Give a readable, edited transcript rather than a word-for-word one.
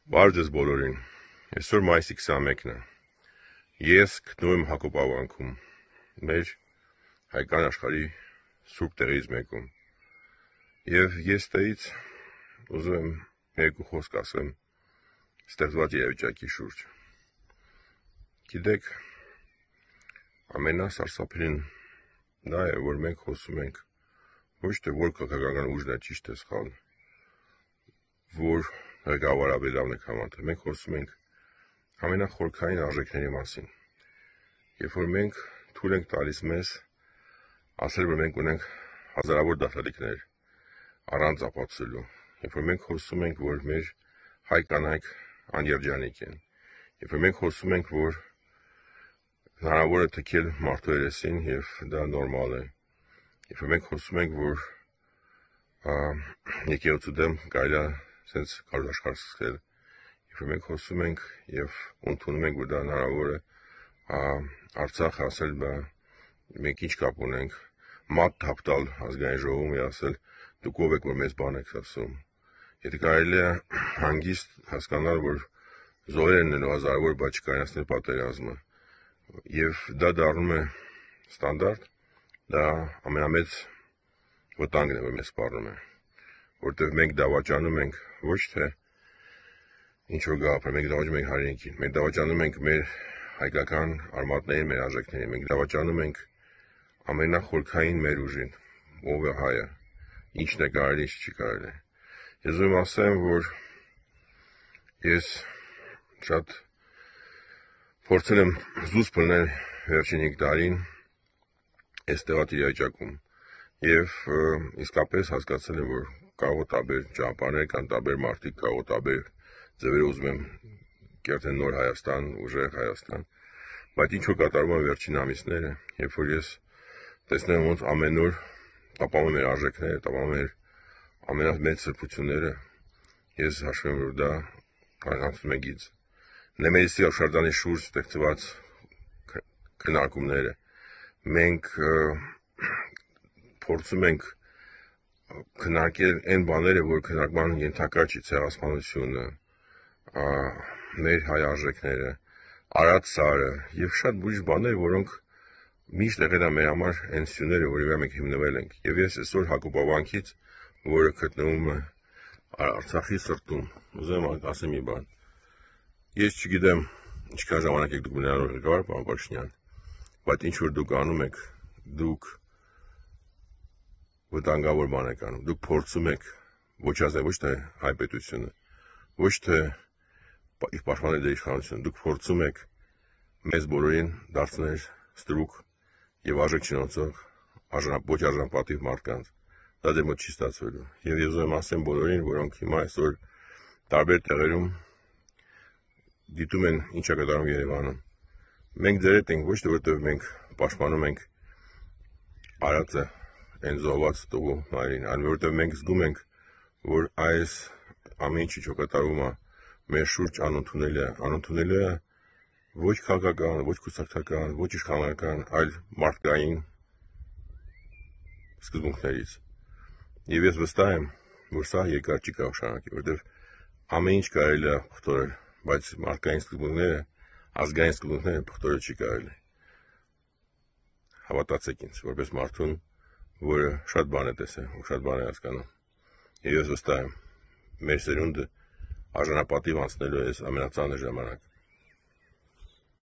Բարև ձեզ բոլորին, այսօր մայիսի 21-ն է, ես գտնվում եմ Հակոբ ավանքում, մեր հայկական աշխարհի սուրբ տեղից մեկում, և ես տեից ուզում եմ երկու խոսք ասեմ ստեղծված իրավիճակի շուրջ։ Գիտեք, ամենասարսափելին դա է, որ մենք խոսում ենք ոչ թե որ քաղաքական ուժն է ճիշտ է սխալ, որ ղեկավարը ավելի լավն է քան մենք խոսում ենք ամենախորքային արժեքների մասին, երբ որ մենք թույլ ենք տալիս մեզ ասել, որ մենք ունենք հազարավոր դաշտալիքներ առանց ապացուցելու, երբ որ մենք խոսում ենք, որ մեր հայ կանայք աներջանիկ են, երբ որ մենք խոսում ենք, որ հնարավոր է թքել մարդու երեսին և դա նորմալ է, երբ որ մենք խոսում ենք, որ եկեղեցու դեմ կարելի է սենց քարոզաշխարհ սկսել, երբ որ մենք խոսում ենք և ընդունում ենք, որ դա հնարավոր է Արցախ ասել, մենք ինչ կապ ունենք, մատ թափ տալ ազգային ժողովում և ասել, դուք ով եք, որ մեզ բան եք ասում, եթե կարելի է հանգիստ հասկանալ, որ զոհեր են լինելու հազարավոր, բայց չկայացնել պատերազմը, և դա դառնում է ստանդարտ, դա ամենամեծ վտանգն է, որ մեզ սպառնում է, որտեղ մենք դավաճանում ենք ոչ թե ինչ-որ գաղափար, մենք դավաճանում ենք հայրենիքին, մենք դավաճանում ենք մեր հայկական արմատներին, մեր արժեքներին, մենք դավաճանում ենք ամենախորքային մեր ուժին, ով է հայը, ինչն է կարելի, ինչ չի կարելի։ Ես ուզում եմ ասեմ, որ ես շատ փորձել եմ զուսպ լինել վերջին 5 տարին այս տեղած իրավիճակում և իսկապես հասկացել եմ, որ կարող է տարբեր ճանապարհներ կան, տարբեր մարդիկ, կարող է տարբեր ձևերով ուզում եմ կերտել նոր Հայաստան, ուժեղ Հայաստան, բայց ինչ որ կատարվում է վերջին ամիսները, երբ որ ես տեսնում եմ ոնց ամեն օր տապալում մեր արժեքները, տապալում մեր ամենամեծ սրբությունները, ես հաշվում եմ, որ դա անցնում է գիծ։ Նեմեսիսի հուշարձանի շուրջ ստեղծված քննարկումները, մենք փորձում ենք քննարկել այն բաները, որ քննարկման ենթակա չի, ցեղասպանությունը, մեր հայ արժեքները, Արադ սարը և շատ ուրիշ բաներ, որոնք միշտ եղել են մեր համար այն սյուները, որի վրա մենք հիմնվել ենք, և ես այսօր Հակոբ ավանքից, որը գտնվում է Արցախի սրտում, ուզում եմ ասեմ մի բան, ես չգիտեմ ինչքան ժամանակ եք դուք մնալու ղեկավար, պարոն Փաշինյան, բայց ինչ որ դուք անում եք, դուք վտանգավոր բան եք անում, դուք փորձում եք ոչնչացնել ոչ թե հայ պետությունը, ոչ թե պաշտպանել դեր իշխանությունը, դուք փորձում եք մեզ բոլորին դարձնել ստրուկ և արժեք չունեցող ոչ արժանապատիվ մարդկանց, դա ձեր մոտ չի ստացվելու, և ես ուզում եմ ասեմ բոլորին, որոնք հիմա այսօր տարբեր տեղերում դիտում են ինչ է կատարվում Երևանում, մենք ձեր հետ ենք ոչ թե որովհետև մենք պաշտպանում ենք Արարատը, այն զոհված տղու մայրին, այլ որովհետև մենք զգում ենք, որ այս ամեն ինչ որ կատարվում է մեր շուրջ անընդունելի է ոչ քաղաքական, ոչ կուսակցական, ոչ իշխանական, այլ մարդկային սկզբունքներից։ Եվ ես վստահ եմ, որ սա երկար չի կարող շարունակել, որովհետև ամեն ինչ կարելի է փոխել, բայց մարդկային սկզբունքները, ազգային սկզբունքները փոխել չի կարելի։ Հավատացեք ինձ, որպես մարդուն, որը շատ բան է տեսել, շատ բան է հասկանում։ Եվ ես վստահ եմ, մեր սերունդը արժանապատիվ անցնելու է այս ամենածանր ժամանակը։